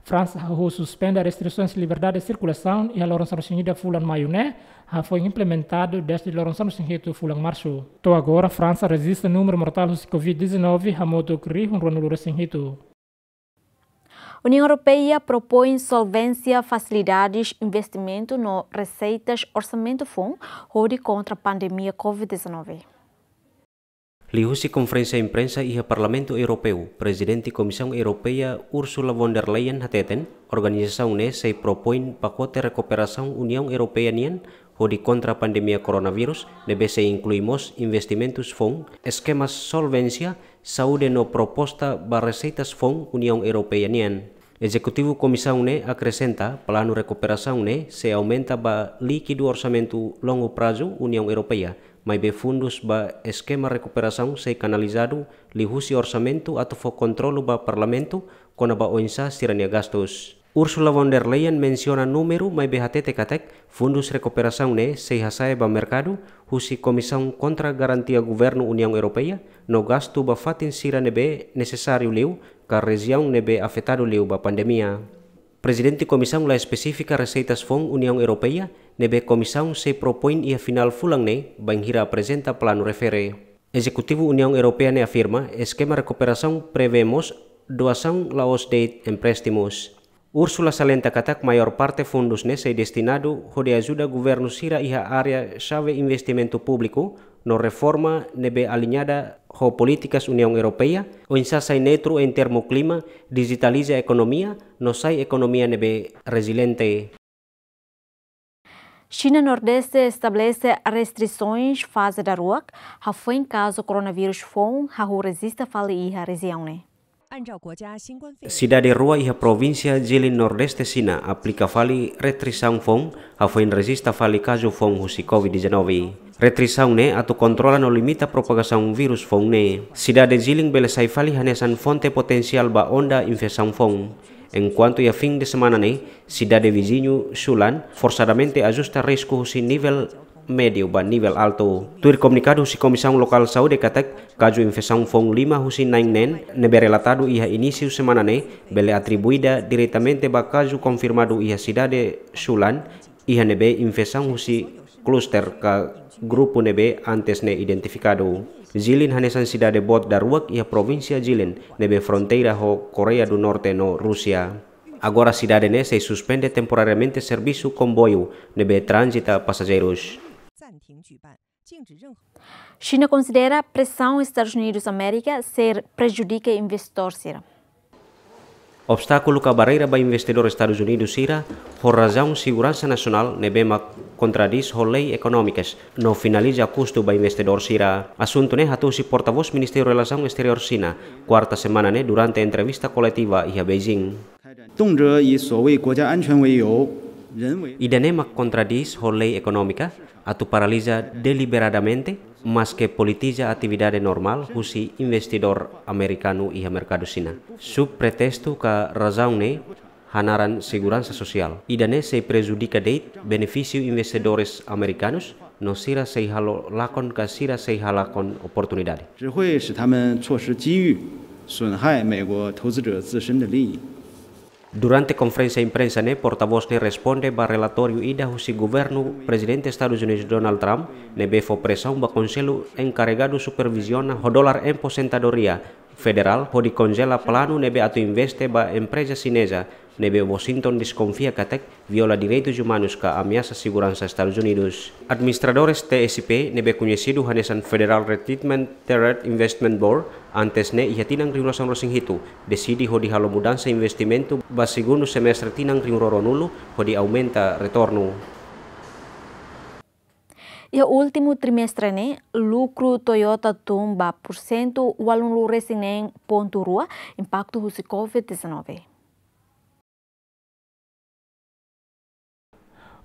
Fransa hahú suspende restrisoens liberdade sirkulasaun iha loron sanulu-resin-ida fulan Maiu ne'e, hafoin implementadu dezde loron sanulu-resin-hitu fulan Marsu. To'o agora Fransa rejista númeru mortál husi covid dezanove hamutuk rihun ruanulu-resin-hitu. Uniaun Europeia propoin solvénsia fasilidades investimentu no reseitas orsamentu foun hodi kontra pandemia covid dezanove. Liuhusi konferénsia imprensa iha Parlamentu Europeu, Prezidente Komisaun Europeia Ursula von der Leyen hateten, organizasaun ne'e sei propoin pakote rekuperasaun Uniaun Europeia nian hodi kontra pandemia koronavírus, ne'ebé sei inklui mós investimentus foun, eskemas solvénsia, saúde no proposta ba reseitas foun Uniaun Europeia nian. Ezekutivu Komisaun ne'e akresenta, planu rekuperasaun ne'e sei aumenta ba líkidu orsamentu longu prazu Uniaun Europeia, maibé fundus ba eskema rekuperasaun sei kanalizadu liuhusi orsamentu atu fó kontrolu ba Parlamentu kona-ba oinsá sira-nia gastus. Ursula von der Leyen mensiona númeru maibé hatete katak fundus rekuperasaun ne'e sei hasa'e ba merkadu husi Komisaun Kontra Garantia Governu Uniaun Europeia no gastu ba fatin sira ne'ebé nesesáriu liu ka rejiaun ne'ebé afetadu liu ba pandemia. Prezidente Komisaun la espesifika reseitas foun Uniaun Europeia ne'ebé Komisaun sei propoin iha finál fulan ne'e bainhira aprezenta planu refere. Ezekutivu Uniaun Europeia ne'e afirma eskema rekuperasaun prevee mós doasaun la'ós de'it empréstimus. Ursula salienta katak maiór parte fundus ne'e sei destinadu hodi ajuda governu sira iha área xave investimentu públiku no reforma ne'ebé aliñada ho polítikas Uniaun Europeia, oinsá sai neutru em termu klima, dijitaliza ekonomia, no sai ekonomia ne'ebé reziliente. Xina Nordeste estabelese restrisoens faze daruak, hafoin kazu koronavírus foun hahú rejista fali iha rejiaun ne'e. Sidade rua iha provínsia Jilin Nordeste Xina aplika fali restrisaun foun, hafoin rejista fali kazu foun husi covid dezanove. Restrisaun ne'e atu kontrola no limita propagasaun vírus foun ne'e. Sidade Jilin bele sai fali hanesan fonte potensiál ba onda infesaun foun. Enkuantu iha fin de semana ne'e, sidade viziñu Xulan forsadamente ajusta risku husi nivel médiu ba nivel altu. Tuir komunikadu husi Komisaun Lokál Saúde katak, kazu infesaun foun lima husi na'in neen ne'ebé relatadu iha inísiu semana ne'e bele atribuida diretamente ba kazu konfirmadu iha sidade Xulan, iha ne'ebé infesaun husi kluster ka grupu ne'ebé antes ne'e identifikadu. Jilin hanesan sidade boot daruak iha provínsia Jilin ne'ebé fronteira ho Koreia do Norte no Rúsia. Agora sidade ne'e sei suspende temporariamente servisu komboiu ne'ebé tranzita pasajeirus. Xina konsidera presaun Estadus Unidus Amérika sei prejudika investidór sira. Obstákulu ka barreira ba investidór Estadus Unidus sira ho razaun seguransa nasionál ne'ebé mak kontradís ho lei ekonómikas no finaliza kustu ba investidór sira. Asuntu ne'e hato'o husi portavós Ministériu Relasaun Esteriór Xina, kuarta semana ne'e durante entrevista koletiva iha Beijing. 动辄以所谓国家安全为由，人为 Ida-ne'e mak kontradís ho lei ekonómika, atu paraliza deliberadamente, maske politiza atividade normál husi investidór amerikanu iha merkadu Xina. Sob pretestu ka razaun ne'e hanaran seguransa sosiál. Ida-ne'e sei prejudika de'it benefísiu investidores amerikanus, no sira sei halo lakon ka sira sei halakon oportunidade. 只会使他们错失机遇，损害美国投资者自身的利益。 Durante konferénsia imprensa ne'e, portavós ne'e responde ba relatóriu ida husi governu Prezidente Estadus Unidus Donald Trump, ne'ebé fó presaun ba Konsellu Enkarregadu Superviziona ho Dolar Aposentadoria Federál hodi konjela planu ne'ebé atu investe ba empreza xineza, ne'ebé Washington deskonfia katak viola direitus umanus ka ameasa seguransa Estadus Unidus. Administradores T S P ne'ebé koñesidu hanesan Federal Retirement Threat Investment Board, antes ne'e iha tinan rihun rua sanulu-resin-hitu, deside hodi halo mudansa investimentu ba segundu semestre tinan rihun rua ruanulu hodi aumenta retornu. Iha últimu trimestre ne'e, lukru Toyota tun ba pursentu ualunulu resin neen pontu rua, impaktu husi covid dezanove.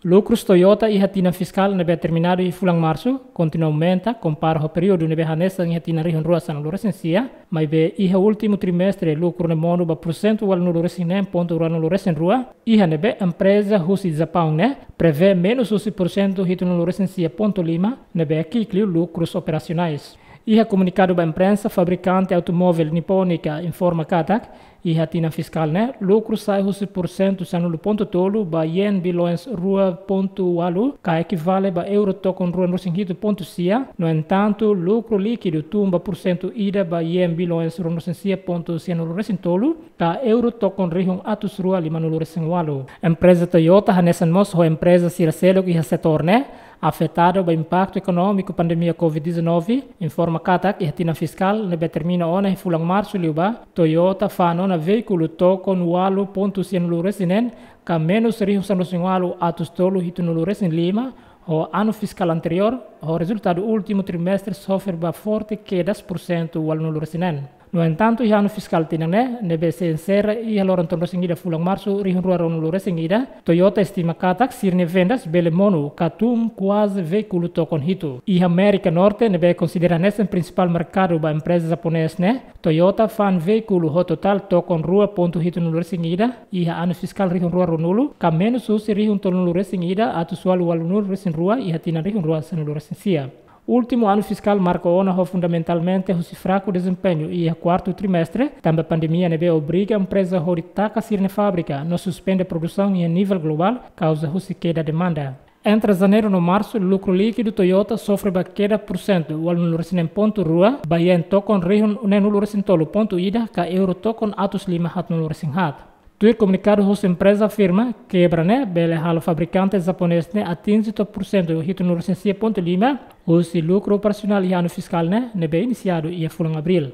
Lukrus Toyota iha tinan fiskál ne'ebé terminadu iha fulan Marsu kontinua aumenta, kompara ho períodu ne'ebé hanesan iha tinan rihun rua sanulu resin sia, maibé iha últimu trimestre lukru ne'e monu ba pursentu ualunulu resin neen pontu ruanulu resin rua, iha ne'ebé empreza husi Japaun ne'e prevee menus husi pursentu hitunulu resin sia pontu lima, ne'ebé ki'ik liu lukrus operasionais. Iha komunikadu ba imprensa, fabrikante automóvel nipónika informa katak, iha tinan fiskál ne'e, lukru sa'e husi pursentu sanulu pontu tolu ba yen bilhões rua pontu ualu, ka ekivale ba euro tokon ruanulu resin hitu pontu sia. No entantu, lukru líkidu tun ba pursentu ida ba yen bilhões ruanulu resin sia pontu sianulu resin tolu, ka euro tokon rihun atus rua limanulu resin ualu. Empreza Toyota hanesan mós ho empreza sira seluk iha setór ne'e, afetadu ba impaktu ekonómiku pandemia covid dezanove, informa katak iha tinan fiskál ne'ebé termina ona iha fulan Marsu liubá, Toyota fa'an ona veíkulu tokon ualu pontu sianulu resin neen, ka menus rihun sanulu resin ualu atus tolu hitunulu resin lima, ho anu fiskál anteriór, ho rezultadu últimu trimestre sofre ba forte keda pursentu ualunulu resin neen. No entantu, iha anu fiskál tinan ne'e, ne'ebé sei enserra iha loron tolunulu resin ida fulan Marsu rihun rua ruanulu resin ida, Toyota estima katak sira-nia vendas bele monu ka tun kuaze veíkulu tokon hitu. Iha Amérika Norte, ne'ebé konsidera hanesan prinsipál merkadu ba empreza japonés ne'e, Toyota fa'an veíkulu ho totál tokon rua pontu hitunulu resin ida iha anu fiskál rihun rua ruanulu, ka menus husi rihun tolunulu resin ida atus ualu ualunulu resin rua iha tinan rihun rua sanulu resin sia. Últimu anu fiskál marka ona ho fundamentalmente husi fraku dezempeñu iha kuartu trimestre, tanba pandemia ne'ebé obriga empreza hodi taka sira-nia fábrika no suspende produsaun iha nivel globál, kauza husi keda demanda. Entre Janeiru no Marsu, lukru líkidu Toyota sofre ba keda pursentu ualunulu resin neen pontu rua, ba yen tokon rihun neenulu resin tolu pontu ida, ka euro tokon atus lima haatnulu resin haat. Tuir komunikadu husi empreza afirma, kebra ne'e bele halo fabrikante japonés ne'e atinje to'o pursentu hitunulu resin sia pontu lima husi lukru operasionál iha anu fiskál ne'e, ne'ebé inisiadu iha fulan Abríl.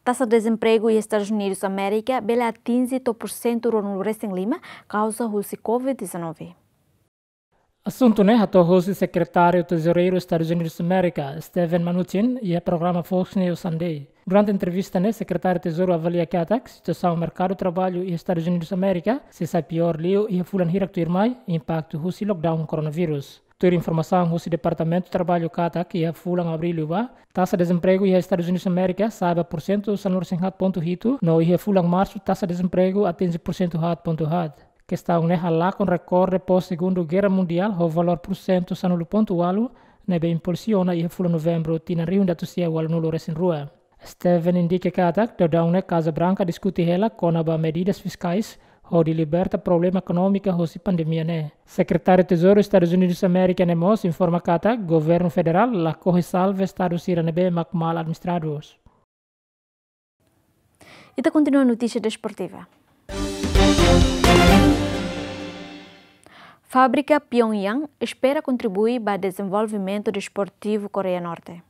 Taxa dezempregu iha Estadus Unidus Amérika bele atinje to'o pursentu ruanulu resin lima, kauza husi covid dezanove. Asuntu ne'e hato'o hosi Sekretáriu Tezoureiru Estadus Unidus Amérika, Steven Mnuchin, iha programa Fox News Sunday. Durante entrevista ne'e, Sekretáriu Tezouru avalia katak situasaun merkadu traballu iha Estadus Unidus Amérika sei sai piór liu iha fulan hirak tuirmai, impaktu husi lockdown koronavírus. Tuir informasaun husi Departamentu Traballu katak, iha fulan Abríl liubá, taxa dezempregu iha Estadus Unidus Amérika sa'e ba pursentu sanulu resin haat pontu hitu, no iha fulan Marsu taxa dezempregu atinje pursentu haat pontu haat. Kestaun ne'e halakon rekorde pós Segundu Gerra Mundiál ho valór pursentu sanulu pontu ualu, ne'ebé impulsiona iha fulan Novembru tinan rihun ida atus sia ualunulu resin rua. Steven indika katak, daudaun ne'e Kaza Branka diskute hela kona-ba medidas fiskais hodi liberta problema ekonómika hosi pandemia ne'e. Sekretáriu Tezouru Estadus Unidus Amérika ne'e mós informa katak, governu federál lakohi salva estadu sira ne'ebé mak mal administradus. Ita kontinua notísia desportiva. Fábrika Pyongyang espera kontribui ba dezenvolvimentu desportivu Koreia Norte.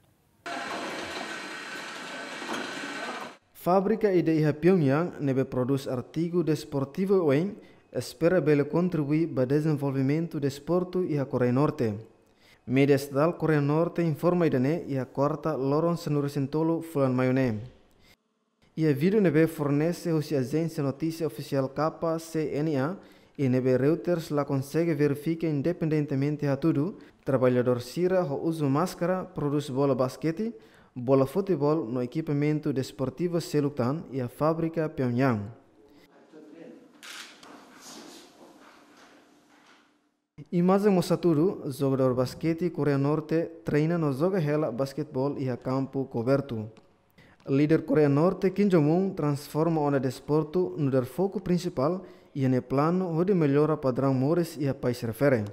Fábrika ida iha Pyongyang ne'ebé prodús artigu desportivu oioin espera bele kontribui ba dezenvolvimentu desportu iha Koreia Norte. Média estatál Koreia Norte informa ida-ne'e iha kuarta loron sanulu resin tolu fulan Maiu ne'e. Iha vídeo ne'ebé fornese husi ajénsia notísia ofisiál K C N A, i ne'ebé Reuters la konsege verifika independentemente hatudu, traballadór sira ho uzu máskara prodús bola baskete, bola futeból no ekipamentu desportivu seluk tan iha fábrika Pyongyang. Imajen mós hatudu jogadór baskete Koreia Norte treina no joga hela basketeból iha kampu kobertu. Líder Koreia Norte Kim Jong-un transforma ona desportu nu'udar foku prinsipál iha nia planu hodi mellora padraun moris iha país refere.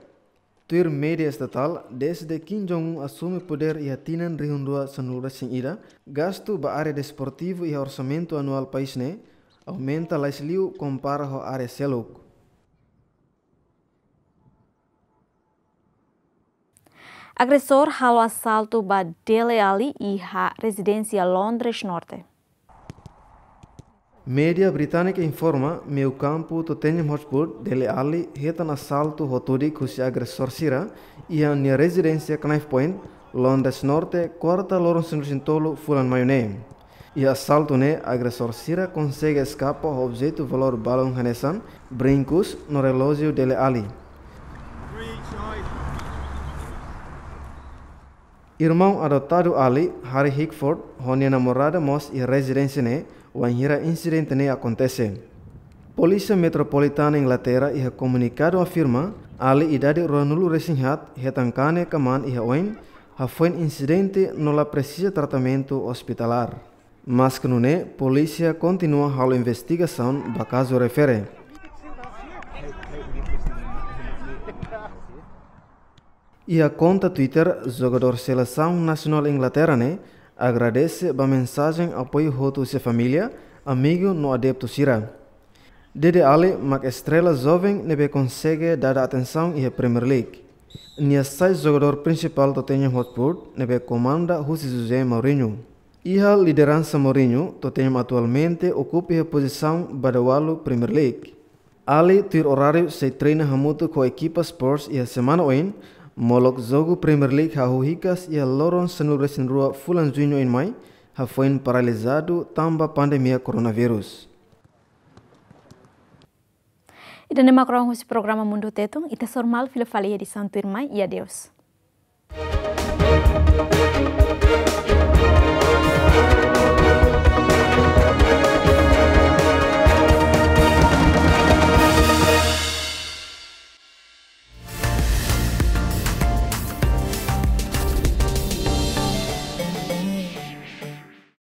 Tuir média estatál, dezde Kim Jong-un asume podér iha tinan rihun rua sanulu resin ida, gastu ba área desportivu iha orsamentu anuál país ne'e aumenta lais liu kompara ho área seluk. Agresór halo asaltu ba Dele Alli iha rezidénsia Londres Norte. Média británika informa, meiu-kampu Tottenham Hotspur, Dele Alli, hetan asaltu ho tudik husi agresór sira, iha nia rezidénsia Knife Point, Londres Norte, kuarta loron sanulu-resin-tolu fulan Maiu ne'e. Iha asaltu ne'e, agresór sira konsege eskapa ho objetu valór balun hanesan brinkus no relójiu Dele Alli. Irmaun adotadu Ali, Harry Hickford, ho nia namorada mós iha rezidénsia ne'e wainhira insidente ne'e akontese. Polísia Metropolitana Inglaterra iha komunikadu afirma, Ali idade ruanulu-resin-haat hetan kane kamaan iha oin, hafoin insidente no la presiza tratamentu ospitalár. Maske nune'e, polísia kontinua halo investigasaun ba kazu refere. Iha konta Twitter, jogadór selesaun nasionál Inglaterra ne'e agradese ba mensajen apoiu hotu husi família, amigu no adeptu sira. Dele Alli mak estrela joven ne'ebé konsege dada atensaun iha Premier League. Nia sai jogadór prinsipál Tottenham Hotspur ne'ebé komanda husi José Mourinho. Iha lideransa Mourinho, Tottenham atualmente okupa iha pozisaun ba dawalu Premier League. Ali tuir oráriu sei treina hamutuk ho ekipa Spurs iha semana oin, molok jogu Premier League hahú hikas iha loron sanulu-resin-rua fulan Juñu oin mai, hafoin paralizadu tanba pandemia koronavírus. Ida-ne'e mak loron husi programa Mundu Tetun, ita sei hasoru fila fali iha edisaun tuirmai, i adeus.